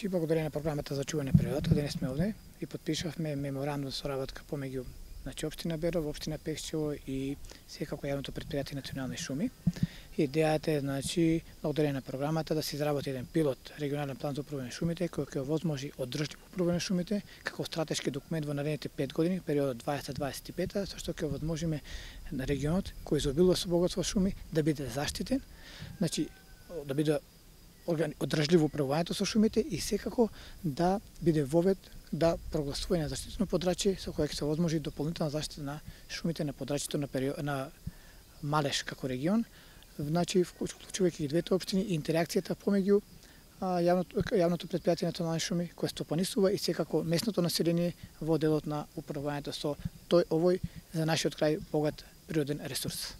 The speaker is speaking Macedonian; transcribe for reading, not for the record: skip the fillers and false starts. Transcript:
И благодарение на програмата за чување на природата, денес сме овде и потпишавме меморандум со соработка помеѓу општина Берово, општина Пехчево и секако јавното предпријатие Национални шуми. Идејата е, благодарение на програмата да се изработи еден пилот регионален план за управување на шумите кој ќе овозможи одржливо управување на шумите како стратешки документ во наредните 5 години, периодот 2025, со што ќе овозможиме на регионот кој изобилува со богатство шуми да биде заштитен, да биде одржливо управувањето со шумите и секако да биде вовед да прогласување на заштитено подрачје со кое ќе се овозможи дополнителна заштита на шумите на подрачјето на Малеш како регион, вклучувајќи ги двете општини и интеракцијата помеѓу јавното предпријатие Национални шуми кое стопанисува и секако местното население во делот на управувањето со овој за нашиот крај богат природен ресурс.